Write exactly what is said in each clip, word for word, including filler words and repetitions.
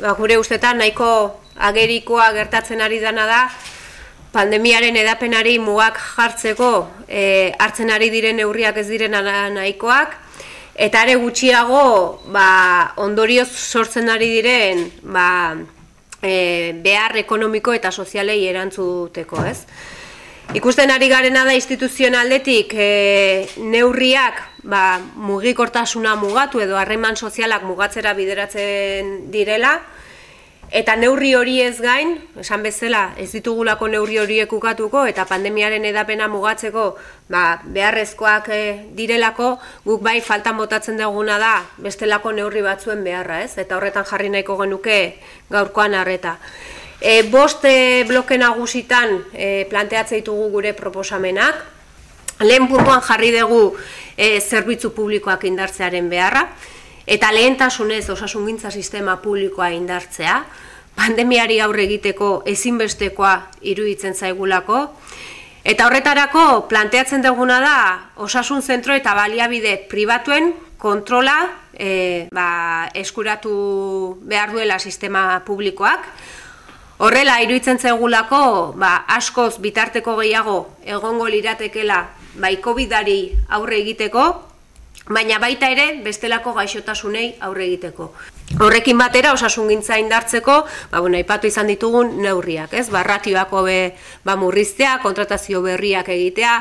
ba, gure ustetan nahiko agerikoa gertatzen ari dana da, pandemiaren edapenari mugak jartzeko e, hartzen ari diren neurriak ez diren nahikoak, eta are gutxiago ba, ondorioz sortzen ari diren ba, e, behar ekonomiko eta sozialei erantzuteko, ez? Ikusten ari garena da instituzioen aldetik e, neurriak ba, mugikortasuna mugatu edo harreman sozialak mugatzera bideratzen direla, eta neurri hori ez gain, esan bezala, ez ditugulako neurri horiek ukatuko eta pandemiaren edapena mugatzeko ba, beharrezkoak e, direlako, guk bai faltan botatzen duguna da bestelako neurri batzuen beharra, ez? Eta horretan jarri nahiko genuke gaurkoan arreta. E, bost e, bloke nagusitan e, planteatzen ditugu gure proposamenak. Lehen puntuan jarri dugu e, zerbitzu publikoak indartzearen beharra, eta lehentasunez osasungintza sistema publikoa indartzea, pandemiari aurre egiteko ezinbestekoa iruditzen zaigulako, eta horretarako planteatzen duguna da osasun zentro eta baliabide pribatuen kontrola e, ba, eskuratu behar duela sistema publikoak. Horrela, iruditzen zaigulako ba, askoz bitarteko gehiago egongo liratekela bai COVIDari aurre egiteko, baina baita ere bestelako gaixotasunei aurre egiteko. Horrekin batera osasungintza indartzeko, ba, bueno, aipatu izan ditugun neurriak, ez? Ba, ratioako be, ba, murriztea, kontratazio berriak egitea,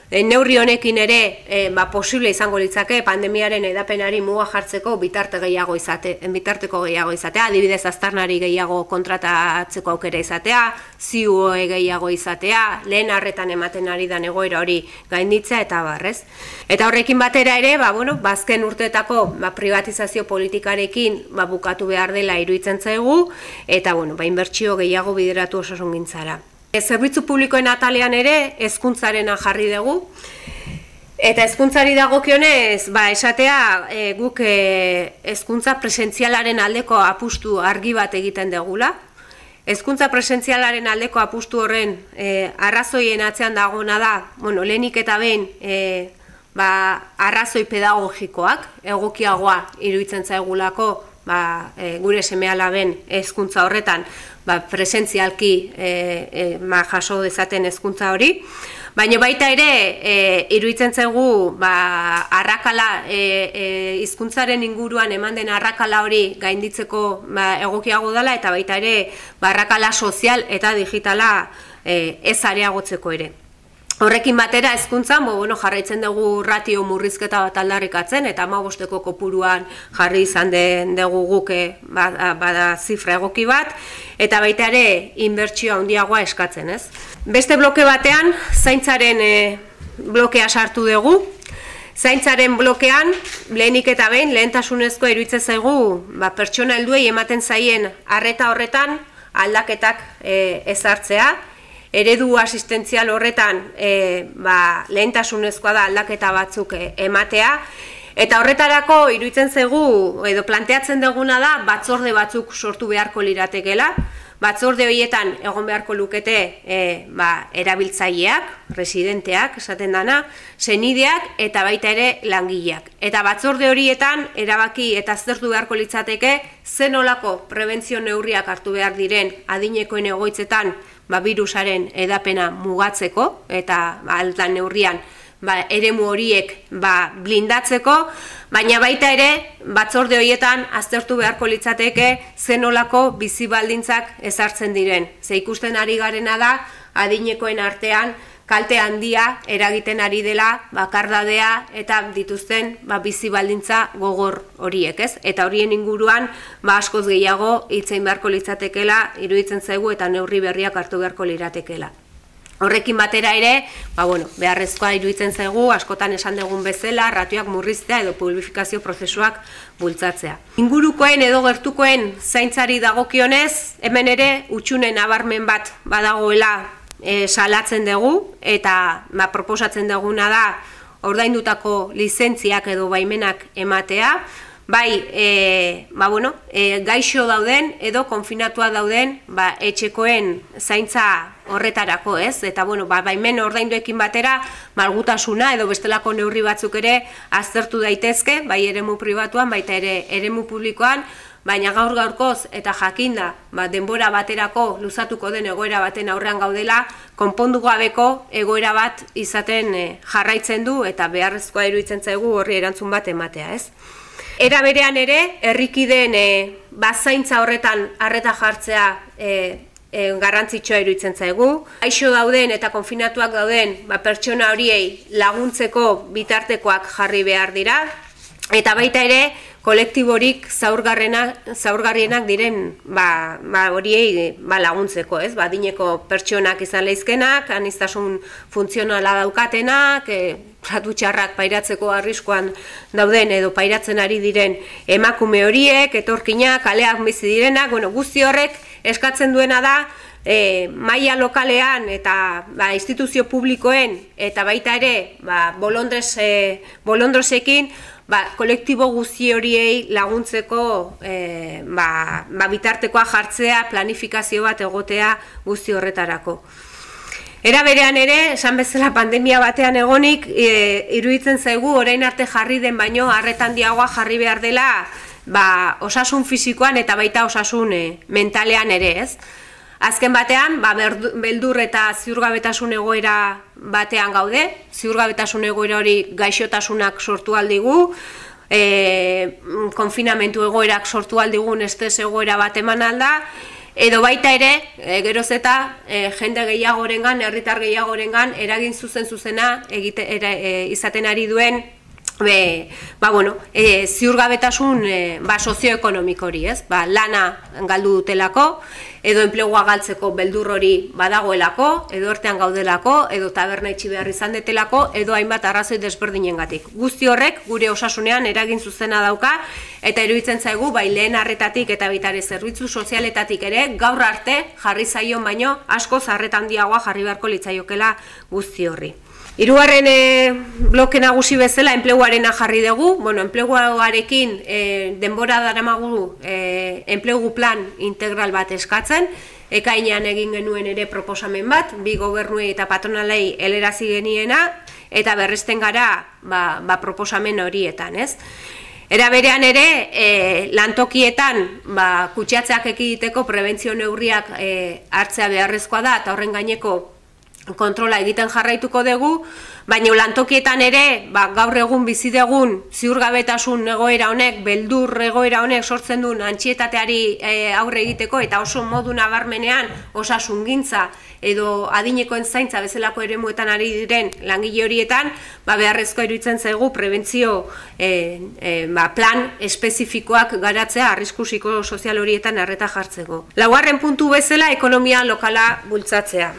e, neurri honekin ere e, ba, posible izango litzake pandemiaren edapenari muga jartzeko bitarte gehiago izate, bitarteko gehiago izatea, adibidez aztarnari gehiago kontratatzeko aukera izatea, ziuoe gehiago izatea, lehen arretan ematen ari da egoera hori gainditzea eta barrez. Eta horrekin batera ere, ba, bueno, bazken urteetako ba, privatizazio politikarekin ba, bukatu behar dela iruditzen zaigu, eta bueno, ba, inbertsio gehiago bideratu osasungintzara. E, zerbitzu publikoen atalean ere hezkuntzarena jarri dugu, eta hezkuntzari dagokionez, ba, esatea e, guk hezkuntza presentzialaren aldeko apustu argi bat egiten dugula. Hezkuntza presentzialaren aldeko apustu horren e, arrazoien atzean dagona da, bueno, lehenik eta behin e, ba, arrazoi pedagogikoak, egokiagoa iruditzen zaigulako ba, e, gure seme-alaben hezkuntza horretan ba, presentzialki e, e, ma, jaso dezaten hezkuntza hori. Baina baita ere, e, iruditzen zaigu ba, arrakala, e, e, hizkuntzaren inguruan eman den arrakala hori gainditzeko ba, egokiago dela, eta baita ere ba, arrakala sozial eta digitala e, ez areagotzeko ere. Horrekin batera hezkuntzan, bo, bueno, jarraitzen dugu ratio murrizketa bat aldarrikatzen, eta hamabosteko kopuruan jarri izan den dugu guke bada, bada zifra egoki bat, eta baita ere inbertsio handiagoa eskatzen, ez? Beste bloke batean, zaintzaren e, blokea sartu dugu. Zaintzaren blokean, lehenik eta behin, lehentasunezko iruditzen zaigu, ba, pertsona helduei ematen zaien arreta horretan aldaketak e, ezartzea. Eredu asistentzial horretan e, ba, lehentasunezkoa da aldaketa batzuk e, ematea, eta horretarako iruditzen zaigu, edo planteatzen duguna da, batzorde batzuk sortu beharko liratekela. Batzorde horietan egon beharko lukete e, ba, erabiltzaileak, residenteak, esaten dana, senideak eta baita ere langileak. Eta batzorde horietan erabaki eta aztertu beharko litzateke zen olako prebentzio neurriak hartu behar diren adinekoen egoitzetan ba, virusaren edapena mugatzeko eta ba, aldan neurrian ba, eremu horiek ba, blindatzeko, baina baita ere batzorde horietan aztertu beharko litzateke zen olako bizi baldintzak ezartzen diren. Ze ikusten ari garena da adinekoen artean kalte handia eragiten ari dela bakardadea eta dituzten ba, bizi baldintza gogor horiek, ez? Eta horien inguruan ba, askoz gehiago hitzein beharko litzatekela iruditzen zaigu eta neurri berriak hartu beharko liratekela. Horrekin batera ere, ba, bueno, beharrezkoa iruditzen zaigu, askotan esan dugun bezala, ratioak murriztea edo publifikazio prozesuak bultzatzea. Ingurukoen edo gertukoen zaintzari dagokionez, hemen ere hutsunen nabarmen bat badagoela e, salatzen dugu, eta ba, proposatzen duguna da ordaindutako lizentziak edo baimenak ematea, bai, e, ba, bueno, e, gaixo dauden edo konfinatua dauden ba, etxekoen zaintza horretarako, ez? Eta, bueno, ba, baimen ordainduekin batera malgutasuna edo bestelako neurri batzuk ere aztertu daitezke, bai eremu pribatuan, baita ere eremu publikoan, baina gaur gaurkoz eta jakinda ba, denbora baterako luzatuko den egoera baten aurrean gaudela, konpondu gabeko egoera bat izaten e, jarraitzen du eta beharrezkoa iruditzen zaigu horri erantzun bat ematea, ez? Era berean ere, herrikideen e, bazaintza horretan arreta jartzea e, e, garrantzitsua iruditzen zaigu. Gaixo dauden eta konfinatuak dauden ba, pertsona horiei laguntzeko bitartekoak jarri behar dira, eta baita ere, kolektiborik zaurgarrienak diren ba, ba, horiei ba, laguntzeko, ez? Ba, adineko pertsonak izan lehizkenak, aniztasun funtzionala daukatenak, e, tratu txarrak pairatzeko arriskoan dauden edo pairatzen ari diren emakume horiek, etorkinak, kaleak bizi direnak, bueno, guzti horrek eskatzen duena da, e, maila lokalean eta ba, instituzio publikoen eta baita ere ba, bolondres, e, bolondrosekin, ba, kolektibo guzti horiei laguntzeko e, ba, ba, bitartekoa jartzea, planifikazio bat egotea guzti horretarako. Era berean ere, esan bezala pandemia batean egonik, e, iruditzen zaigu orain arte jarri den baino arretan diagoa jarri behar dela ba, osasun fisikoan eta baita osasun e, mentalean ere, ez? Azken batean, ba, beldur eta ziurgabetasun egoera batean gaude, ziurgabetasun egoera hori gaixotasunak sortu aldigu, e, konfinamentu egoerak sortu aldigun estres egoera bat eman alda, edo baita ere, e, geroz eta e, jende gehiagorengan, herritar gehiagorengan, eragin zuzen zuzena egite, era, e, izaten ari duen Be, ba, bueno, e, ziurgabetasun e, ba, sozioekonomiko hori, ez? Ba, lana galdu dutelako, edo enplegua galtzeko beldur hori badagoelako, edo hortean gaudelako, edo taberna itxi behar izan detelako, edo hainbat arrazoi desberdinengatik. Guzti horrek gure osasunean eragin zuzena dauka, eta iruditzen zaigu, bai lehen arretatik eta bitare zerbitzu sozialetatik ere, gaur arte jarri zaion baino, askoz arretan handiagoa jarri beharko litzaiokela guzti horri. Hirugarren e, bloke nagusi bezala enpleguarena jarri dugu, bueno, enpleguarekin e, denbora daramagu e, enplegu plan integral bat eskatzen, ekainean egin genuen ere proposamen bat, bi gobernuei eta patronalei helarazi geniena, eta berresten gara ba, ba proposamen horietan, ez? Era berean ere, e, lantokietan ba, kutsatzeak ekiditeko prebentzio neurriak e, hartzea beharrezkoa da, eta horren gaineko kontrola egiten jarraituko dugu, baina lantokietan ere, ba, gaur egun bizi dugun ziurgabetasun egoera honek, beldur egoera honek sortzen duen antxietateari e, aurre egiteko eta oso modu nabarmenean osasungintza edo adinekoen zaintza bezalako eremuetan ari diren langile horietan, ba, beharrezko iruditzen zaigu prebentzio e, e, ba, plan espezifikoak garatzea arrisku psikosozial horietan arreta jartzeko. Laugarren puntu bezala ekonomia lokala bultzatzea.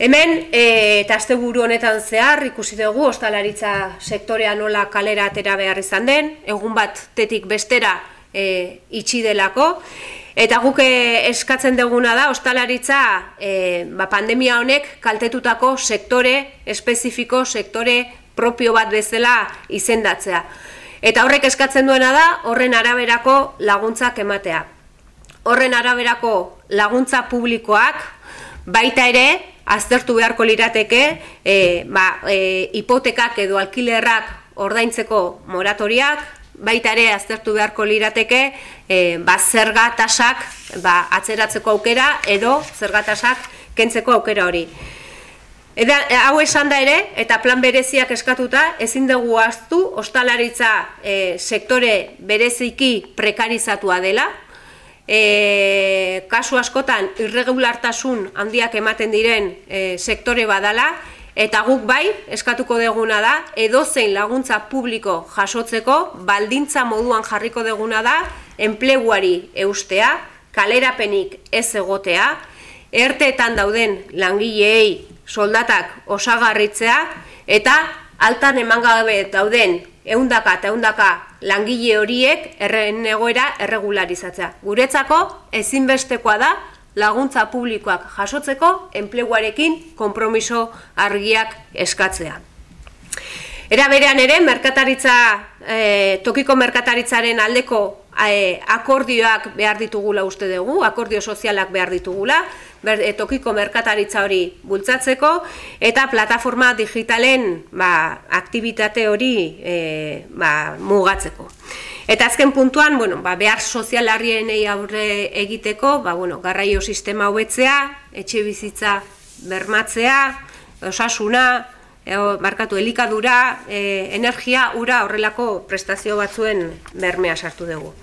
Hemen, e, eta asteburu honetan zehar, ikusi dugu ostalaritza sektorea nola kalera atera behar izan den, egun bat tetik bestera e, itxi delako, eta guk eskatzen duguna da, ostalaritza e, ba, pandemia honek kaltetutako sektore espezifiko, sektore propio bat bezala izendatzea. Eta horrek eskatzen duena da, horren araberako laguntzak ematea. Horren araberako laguntza publikoak, baita ere, aztertu beharko lirateke, e, ba, e, hipotekak edo alkilerrak ordaintzeko moratoriak, baita ere aztertu beharko lirateke, e, ba, zerga tasak ba, atzeratzeko aukera edo zerga tasak kentzeko aukera hori. Eda, hau esan da ere, eta plan bereziak eskatuta, ezin dugu ahaztu ostalaritza e, sektore bereziki prekarizatua dela, E, kasu askotan irregulartasun handiak ematen diren e, sektore badala, eta guk bai, eskatuko deguna da, edozein laguntza publiko jasotzeko, baldintza moduan jarriko deguna da, enpleguari eustea, kalerapenik ez egotea, erteetan dauden langileei soldatak osagarritzea, eta altan eman gabe dauden ehundaka eta ehundaka langile horiek erren egoera erregularizatzea. Guretzako ezinbestekoa da laguntza publikoak jasotzeko enpleguarekin konpromiso argiak eskatzea. Era berean ere, merkataritza, e, tokiko merkataritzaren aldeko e, akordioak behar ditugula uste dugu, akordio sozialak behar ditugula, ber, e, tokiko merkataritza hori bultzatzeko, eta plataforma digitalen ba, aktibitate hori e, ba, mugatzeko. Eta azken puntuan, bueno, ba, behar sozialarrienei aurre egiteko, ba, bueno, garraio sistema hobetzea, etxe bizitza bermatzea, osasuna, e, markatu elikadura, e, energia, ura horrelako prestazio batzuen bermea sartu dugu.